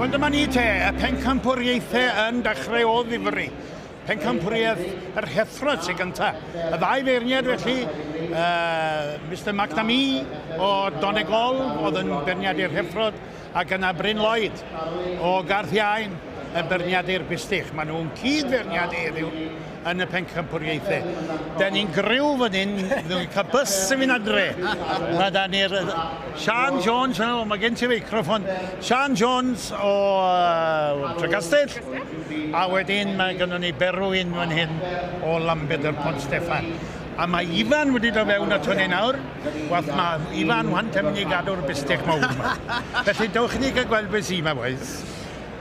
Wel dyma ni te, y pencampwriaethau yn dechrau o ddifri. Pencampwriaeth yr heffrod sy'n gynta. Y ddau feirniad felly, Mr McNamee o Donegal oedd yn beirniadu'r heffrod, ac yna Bryn Lloyd o Garth Iain yn beirniadu'r bistych. Maen nhw'n cyd-feirniadu heddiw yn y pencampwriaethau. Da ni'n griw fan hyn, ni'n cael bus yn mynd adre. Mae da ni'r Sian Jones, yna, mae gen ti feicroffon. Sian Jones o Trecastell, a wedyn mae gennym ni Berwyn fan hyn o Lambed yr Pont Steffan. A mae Ifan wedi dod fewn ato ni nawr. Wath mae Ifan wan te mynd i gadw'r bistych mawr yma. Felly dewch i ni gael gweld beth sy'n yma, boys.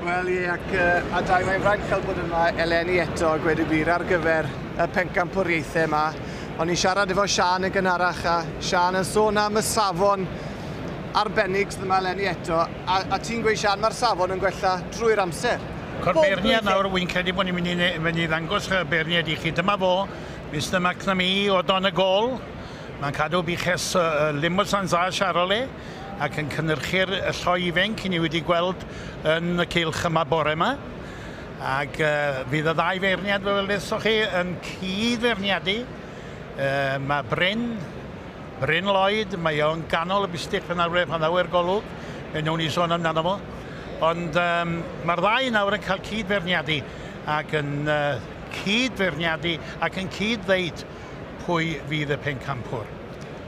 Wel ie, ac a dau, mae'n fraint cael bod yma eleni eto, a gweud y gwir, ar gyfer y pencampwriaethau yma. O'n i'n siarad efo Sian yn gynharach, a Sian yn sôn am y safon arbennig sydd yma eleni eto. A ti'n gweud, Sian, mae'r safon yn gwella drwy'r amser. Cor beirniad nawr, wy'n credu bod ni'n mynd i ddangos y beirniad i chi. Dyma fo, Mr McNamee o Donegal. Mae'n cadw buches Limousin a Charolais ac yn cynhyrchu'r lloi ifanc i ni wedi gweld yn y cylch yma bore yma. Ac fydd y ddau feirniad, fel welesoch chi, yn cyd-feirniadu. Mae Bryn Lloyd, mae o'n ganol y bistych fan awr pan ddaw i'r golwg. Fe wnawn ni sôn amdano fo. Ond mae'r ddau nawr yn cael cyd-feirniadu ac yn cyd-feirniadu ac yn cyd-ddeud pwy fydd y pencampwr.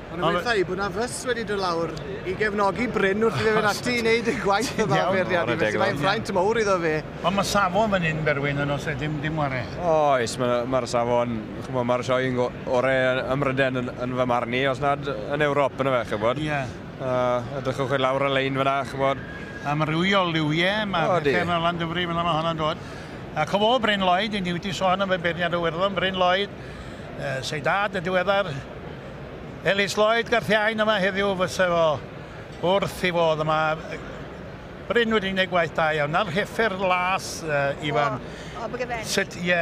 Ond yn gweitha i bod na fys wedi dod lawr i gefnogi Bryn wrth iddo fynd ati i wneud y gwaith yma feirniadu. Felly mae'n fraint mawr iddo fe. Ond mae safon fan hyn, Berwyn, yn os dim ware. Oes, mae'r safon, mae'r sioe orau ym Mhrydain yn fy marn i, os nad yn Ewrop yn y fe, ch'bod. Ie. Edrychwch chi lawr y lein fyna, ch'bod. Amrywiol liwiau, mae'r pethau yma lan dyfri, fyna mae hwnna'n dod. Ac o fo Bryn Lloyd, i ni wedi sôn am y beirniad o Werddon, Bryn Lloyd, se'i dad y diweddar, Ellis Lloyd Garthiain yma heddiw fysa fo wrth i fod yma. Bryn wedi gwneud gwaith da iawn. Na'r heffer las, Ifan. O, Abergavenny. Sut, ie,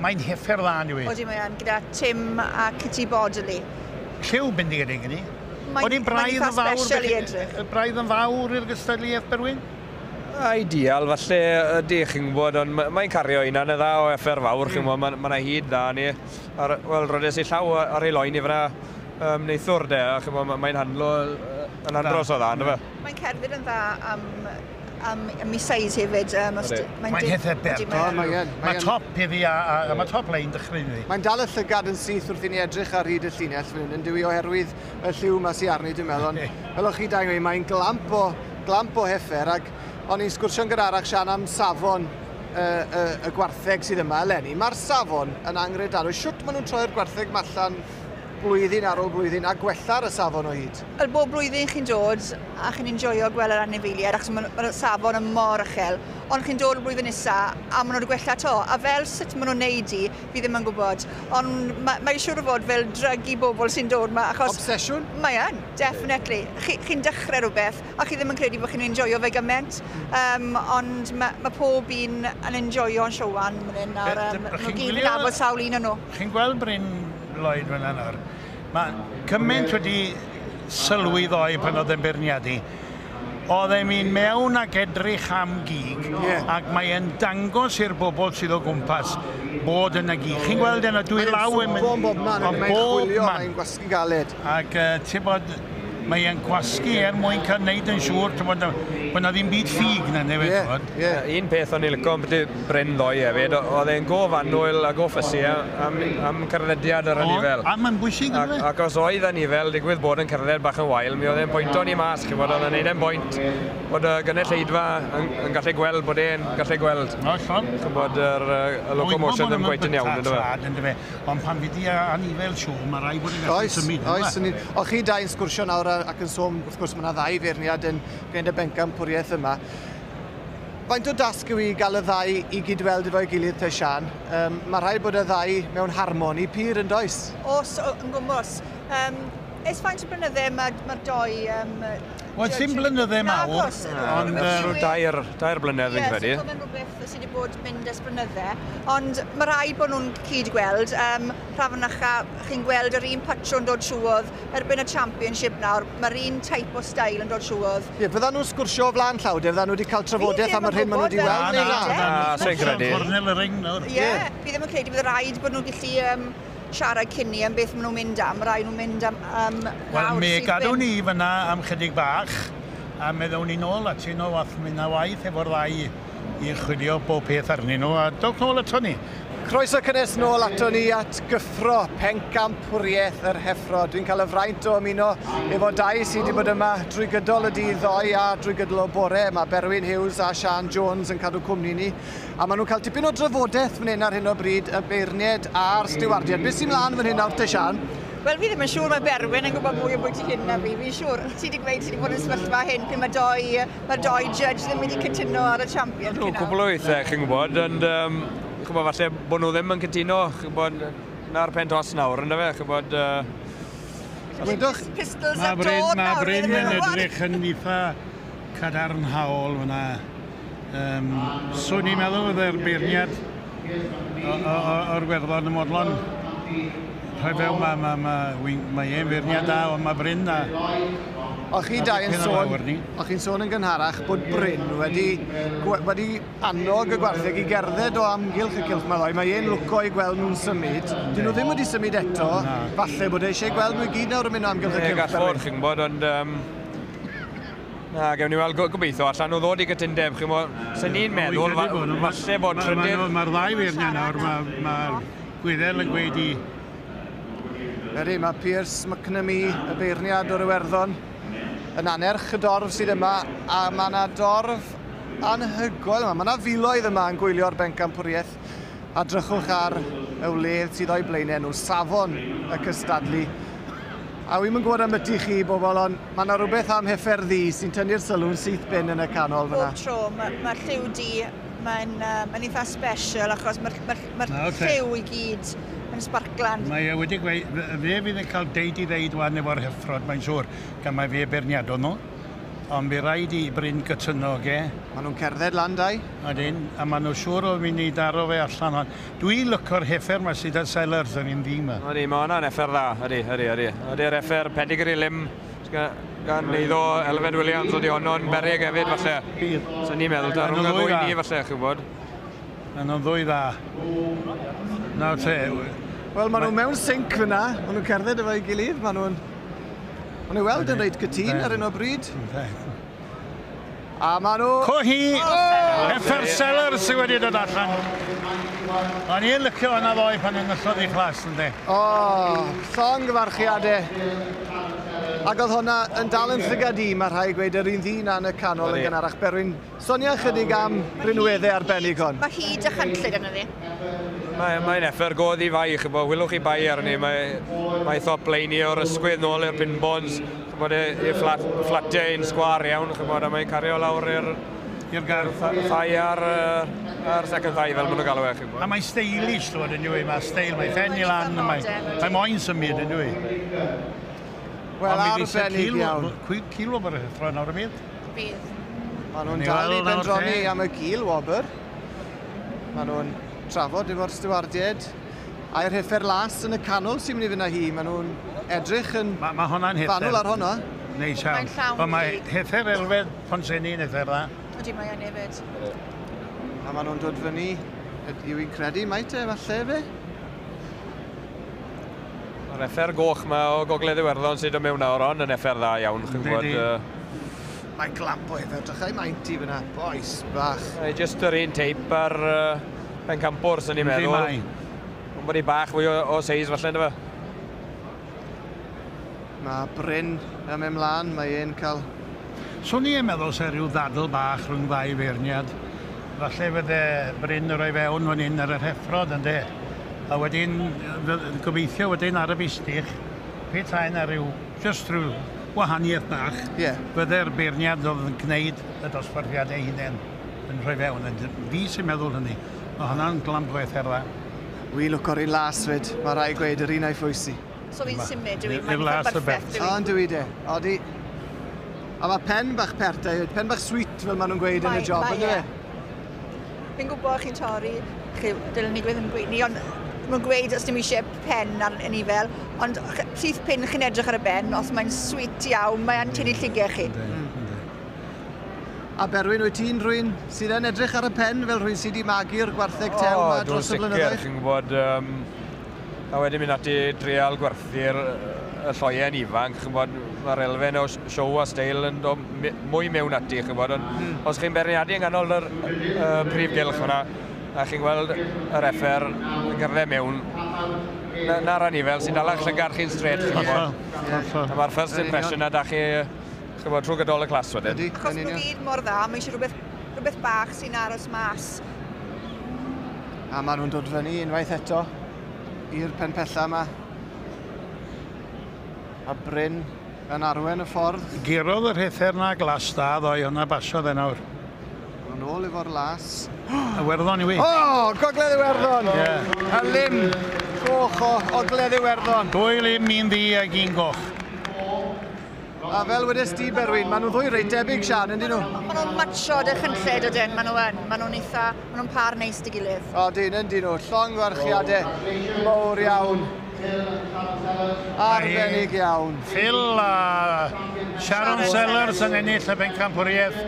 mae'n heffer dda, yw i. Odi, mae'n gyda Tim a Kitty Bodley. Lliw bendigedig yn i. O'n i'n braidd yn fawr, braidd yn fawr i'r gystadleuaeth, Berwyn? Ideal, falle ydy, chi'n gwybod, ond mae'n cario un yn y dda o heffer fawr, chi'n gwybod, mae yna hyd dda ni. Wel, rodes i llaw ar ei loen i fyna neithwr de, a chi'n gwybod, mae'n handlo yn andros o dda, ynddo fe? Mae'n cerdded yn dda am ei size hefyd. Mae'n heffer bert. Mae top iddi a mae top lein dechrau iddi. Mae'n dal y llygad yn syth wrth i ni edrych ar hyd y llinell fan hyn, yn dyw i oherwydd y lliw yma sy'n arni, dwi'n meddwl. Ond fel o'ch chi dau'n gweud, mae'n glamp o heffer, ac o'n i'n sgwrsio'n gynharach, Sian, am safon y gwartheg sydd yma eleni. Mae'r safon yn anghredadwy. Shwt maen nhw'n troi'r gwartheg ma allan blwyddyn ar ôl blwyddyn a gwella'r y safon o hyd? Wel, bob blwyddyn chi'n dod a chi'n enjoio gweld yr anifeiliaid, achos mae'r safon yn mor uchel, ond chi'n dod y blwyddyn nesaf a maen nhw wedi gwella to. A fel sut maen nhw'n neud i, fi ddim yn gwybod. Ond mae'n siŵr o fod fel drug i bobl sy'n dod yma. Achos obsesiwn? Mae yn, definitely. Chi'n dechrau rhywbeth a chi ddim yn credu bod chi'n enjoio fe gymaint. Ond mae pob un yn enjoio'n siowan fan hyn. Nhw gyd yn nabod sawl un o'n nhw. Chi'n gweld Bryn Lloyd fan nawr. Mae cymaint wedi sylwi ddoe pan oedd e'n beirniadu. Oedd e'n mynd mewn ac edrych am gig, ac mae'n dangos i'r bobl sydd o gwmpas bod yna gig. Chi'n gweld yna dwy law yn mynd... Mae'n bob man, mae'n chwilio, mae'n gwasgu galed. Ac ti'n bod, mae'n gwasgu er mwyn cael wneud yn siŵr bod yna ddim byd ffug na, neu beth. Un peth o'n i'n licio ambyti Bryn ddoe hefyd, oedd e'n go fanwyl a go ffysi am cerddediad yr anifel. A mae'n bwysig, ynddo fe? Ac os oedd anifel, digwydd bod yn cerdded bach yn wael, mi oedd e'n pwyntio ni mas, chi'n bod, oedd e'n neud e'n bwynt bod y gynulleidfa yn gallu gweld bod e'n gallu gweld. O, llon. Chi'n bod yr locomotion ddim cweit yn iawn, ynddo fe? Ond pan fydd i anifel siw, mae rhaid bod yn gallu symud. Oes, o chi dau'n sgwrsio nawr ac yn sôn, wrth gwrs, mae yna ddau feirniad yn gwneud y bencampwriaeth yma. Faint o dasg yw i gael y ddau i gydweld efo'i gilydd te, Sian? Mae rhaid bod y ddau mewn harmoni pur yn does? Oes, yn gwmws. Ers faint o blynydde mae'r doi... Wel, sim blynydde mawr. Ond 2 blynedd fi'n credu. Ie, so mae'n rhywbeth sydd wedi bod mynd ers blynydde. Ond mae rhaid bod nhw'n cyd-gweld. Rhafnacha, chi'n gweld yr un patrwn dod trwodd erbyn y championship nawr. Mae'r un type o style yn dod trwodd. Ie, fyddan nhw'n sgwrsio o flaen llaw, de? Fyddan nhw wedi cael trafodaeth am yr hyn maen nhw wedi weld? Na, na, sy'n credu. Cornel y ring nawr. Ie, fi ddim yn credu bydd rhaid bod nhw'n gallu siarad cyn ni am beth maen nhw'n mynd am. Rhaid nhw'n mynd am Wel, mi gadw ni fyna am chydig bach, a meddwn ni nôl atyn nhw, a mynd na waith efo'r ddau i chwilio bob peth arnyn nhw, a dowch nôl ato ni. Croeso cynnes nôl ato ni at gyffro pencampwriaeth yr heffro. Dwi'n cael y fraint o ymuno efo dau sydd wedi bod yma drwy gydol y dydd ddoe a drwy gydol o bore. Mae Berwyn Hughes a Sian Jones yn cadw cwmni ni. A maen nhw'n cael tipyn o drafodaeth fan hyn ar hyn o bryd, y beirniaid a'r stiwardiaid. Beth sy'n mlaen fan hyn nawr te, Sian? Wel, fi ddim yn siŵr mae Berwyn yn gwybod mwy o bwyty hyn na fi. Fi'n siŵr, ti wedi gweud ti wedi bod yn sefyllfa hyn pryd mae doi judge ddim wedi cytuno ar y champion. Cwbl o weithiau, chi'n gwybod, ond ch'mod, falle bod nhw ddim yn cytuno, ch'mod, na'r pen tost nawr, ynddo fe, ch'mod... Gwydwch? Pistols ar dod nawr. Mae Bryn yn edrych yn eitha cadarnhaol fyna. Swn i'n meddwl fydde'r beirniad o'r Werddon y Modlon. Rhoi fewn, mae e'n feirniad da, ond mae Bryn da. O'ch chi dau yn sôn, o'ch chi'n sôn yn gynharach bod Bryn wedi annog y gwartheg i gerdded o amgylch y cylch 'ma ddoe. Mae e'n lwco i gweld nhw'n symud. Dyn nhw ddim wedi symud eto. Falle bod e eisiau gweld nhw i gyd nawr yn mynd o amgylch y cylch. Gall fod, chi'n gwybod, ond... Na, gewn ni weld gobeithio allan nhw ddod i gytundeb, chi'n gwybod. Sy'n ni'n meddwl, falle bod trydydd... Mae'r ddau feirniad nawr, mae'r Gwyddel yn gweud i... Ydy, mae Pierce McNamee, y beirniad o'r Iwerddon, yn anerch y dorf sydd yma, a mae yna dorf anhygoel yma. Mae yna filoedd yma yn gwylio'r bencampwriaeth, a drychwch ar y wledd sydd o'i blaenau nhw, safon y cystadlu. A wi'm yn gwybod am ydy chi, bobl, ond mae yna rhywbeth am heffer ddu sy'n tynnu'r sylw'n syth bin yn y canol fyna. Bob tro, mae'r lliw du, mae'n eitha special, achos mae'r lliw i gyd yn sparklan. Mae e wedi gweud, fe fydd yn cael deud i ddeud wan efo'r heffrod, mae'n siŵr, gan mae fe beirniadol nhw. Ond fe rhaid i Bryn gytuno, ge. Maen nhw'n cerdded lan, dau. Ydyn, a maen nhw siŵr o mynd i daro fe allan. Dwi'n lyco'r heffer ma sydd ar Sellers yn un ddi ma. Ydy, mae hwnna'n heffer dda, ydy, ydy, ydy. Ydy'r heffer pedigree lim gan eiddo Elfed Williams, ydy honno'n beryg hefyd, falle. So ni'n meddwl, da rhwng y ddwy ni, falle, chi'n gwybod. Maen nhw'n ddwy dda. Nawr te. Wel, maen nhw mewn sync fyna. Maen nhw'n cerdded efo'i gilydd. Maen nhw'n... Maen nhw weld yn reit gytûn ar un o bryd. A maen nhw... Cohi! Heffer Sellers sydd wedi dod allan. O'n i'n licio hwnna ddoe pan enillodd ei chlas, ynddi? O, llongyfarchiadau. Ac oedd hwnna yn dal yn llygad i, mae rhai gweud yr un ddyn yn y canol yn gynharach. Berwyn, sonia chydig am rinweddau arbennig hon. Mae hyd a chynllun yna ni. Mae'n effer godd i fai, chybod, wylwch chi bai arni. Mae thop leini o'r ysgwydd nôl i'r pinbons, chybod, i'r fflatiau yn sgwar iawn, chybod, a mae'n cario lawr i'r gardd. Thai a'r second thai, fel maen nhw'n galw e, chybod. A mae'n stylish, twod, yn dwi, mae steil, mae ffen i lan, mae moyn symud, yn dwi. Wel, arbennig iawn. Cil wobr y nawr y byd? Bydd. Maen nhw'n dal i bendroni am y gil wobr. Maen nhw'n trafod efo'r stiwardiaid. A'r heffer las yn y canol sy'n mynd i fynd â hi. Maen nhw'n edrych yn fanwl ar honno. Neis iawn. Ond mae heffer Elfed Pontsenni'n heffer dda. Ydy, mae o'n hefyd. A maen nhw'n dod fyny, yw i'n credu, mai te, falle fe? Mae'r effer goch yma o Gogledd Iwerddon sydd yn mewn nawr on yn effer dda iawn, chi'n gwybod. Mae'n glamp o heffer, drychau maint i fyna, boes bach. Just yr un teip ar pencampwr, sy'n ni'n meddwl. Ond bod hi bach fwy o seis falle, ynddo fe? Mae Bryn yn mynd mlaen, mae e'n cael... Swn i'n meddwl se rhyw ddadl bach rhwng ddau feirniad. Falle fydde Bryn yn rhoi fewn fan hyn ar yr heffrod, ynddo? A wedyn, gobeithio wedyn ar y bistych, petai yna rhyw, just rhyw wahaniaeth bach, fydde'r beirniad oedd yn gwneud y dosbarthiadau hunain yn rhoi fewn. Fi sy'n meddwl hynny. Mae hwnna'n glamp o effer dda. Wi lwco'r un las fyd, mae rhaid gweud yr un a'i ffwysi. So fi'n symud, dwi. Mae'n berffaith, dwi. O, yn dwi de. Odi. A mae pen bach pert, pen bach sweet, fel maen nhw'n gweud yn y job, ynddo fe? Fi'n gwybod chi'n torri, chi, dylen ni gweud yn gweud ni, ond maen gweud os dim eisiau pen ar anifail, ond syth pin chi'n edrych ar y ben, os mae'n sweet iawn, mae'n tynnu llygau chi. A Berwyn, wyt ti'n rhywun sydd yn edrych ar y pen fel rhywun sydd wedi magu'r gwartheg tew yma dros y blynyddoedd? O, dwi'n sicr, chi'n gwybod, a wedyn mynd ati drial gwerthu'r y lloien ifanc, chi'n gwybod, mae'r elfen o show a steil yn dod mwy mewn ati, chi'n gwybod, ond os chi'n beirniadu yng nghanol yr prif gylch fyna, a chi'n gweld yr effer yn cerdded mewn, na'r anifail sy'n dalach llygad chi'n straight, chi'n gwybod. A mae'r first impression na da chi, chi'n gwybod, trwy gydol y clas wedyn. Achos nhw gyd mor dda, mae eisiau rhywbeth bach sy'n aros mas. A maen nhw'n dod fyny unwaith eto i'r pen pella yma. A Bryn yn arwen y ffordd. Gurodd yr heffer na glas da ddoe, hwnna basiodd e nawr. Yn ôl efo'r las. Iwerddon i wi. O, Gogledd Iwerddon! Yeah. Y lim goch o Ogledd Iwerddon. 2 lim, 1 ddu ac 1 goch. A fel wedes di, Berwyn, maen nhw'n ddwy reit debyg, Sian, yndyn nhw? Maen nhw'n matcho dy chynlled o dyn, maen nhw yn. Maen nhw'n eitha, maen nhw'n par neis dy gilydd. O, dyn, yndyn nhw. Llongyfarchiadau mawr iawn. Arbennig iawn. Phil a Sharon Sellers yn ennill y bencampwriaeth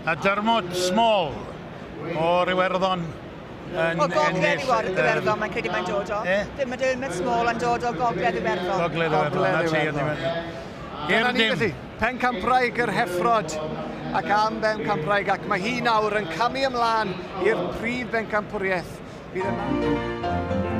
a Dermot Small o'r Iwerddon yn O Gogledd Iwerddon, mae'n credu mae'n dod o. Mae Dermot Small yn dod o Gogledd Iwerddon. Gogledd Iwerddon, na ti. Dyna ni felly, pencampwraig yr heffrod ac am bencampwraig, ac mae hi nawr yn camu ymlaen i'r prif bencampwriaeth. Bydd yma.